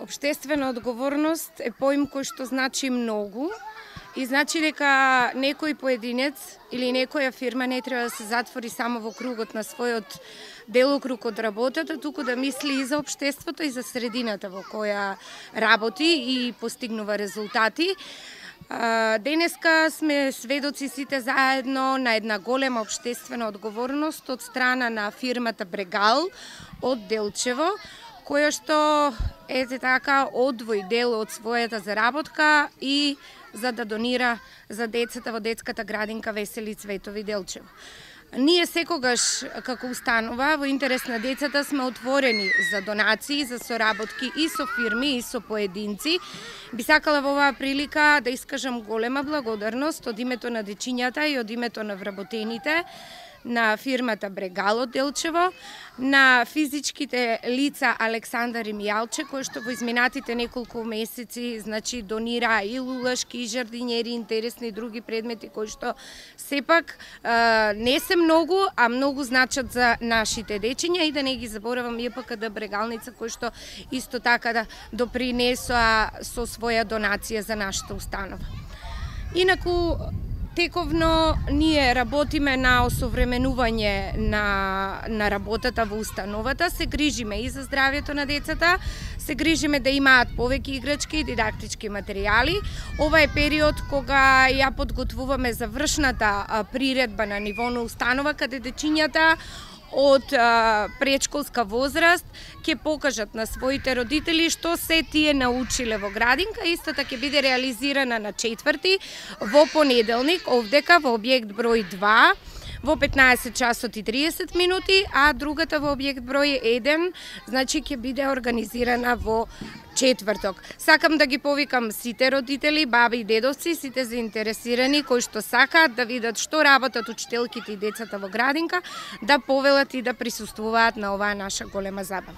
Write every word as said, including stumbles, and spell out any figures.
Обштествена одговорност е поим кој што значи многу и значи дека некој поединец или некоја фирма не треба да се затвори само во кругот на својот делокруг од работата, туку да мисли и за општеството и за средината во која работи и постигнува резултати. Денеска сме сведоци сите заедно на една голема обштествена одговорност од страна на фирмата Брегал од Делчево, која што ете така одвои дел од својата заработка и за да донира за децата во детската градинка Весели Цветови Делчево. Ние секогаш како установа во интерес на децата сме отворени за донации, за соработки и со фирми и со поединци. Би сакала во оваа прилика да искажам голема благодарност од името на дечињата и од името на вработените на фирмата Брегал од Делчево, на физичките лица Александар и Мијалче, кои што во изминатите неколку месеци значи донира и лулашки, и жардинери, интересни други предмети кои што сепак е, не се многу, а многу значат за нашите дечиња и да не ги заборавам ЕПКД Брегалница кои што исто така да допринесоа со своја донација за нашата установа. Инаку тековно ние работиме на осовременување на, на работата во установата, се грижиме и за здравјето на децата, се грижиме да имаат повеќе играчки и дидактички материјали. Ова е период кога ја подготвуваме завршната приредба на ниво на установа, каде дечињата од а, предшколска возраст ќе покажат на своите родители што се тие научиле во градинка. Истата ќе биде реализирана на четврти во понеделник овдека во објект број два во петнаесет часот и триесет минути, а другата во објект број еден значи ќе биде организирана во четврток. Сакам да ги повикам сите родители, баби и дедовци, сите заинтересирани кои што сакаат да видат што работат учителките и децата во градинка, да повелат и да присуствуваат на оваа наша голема забава.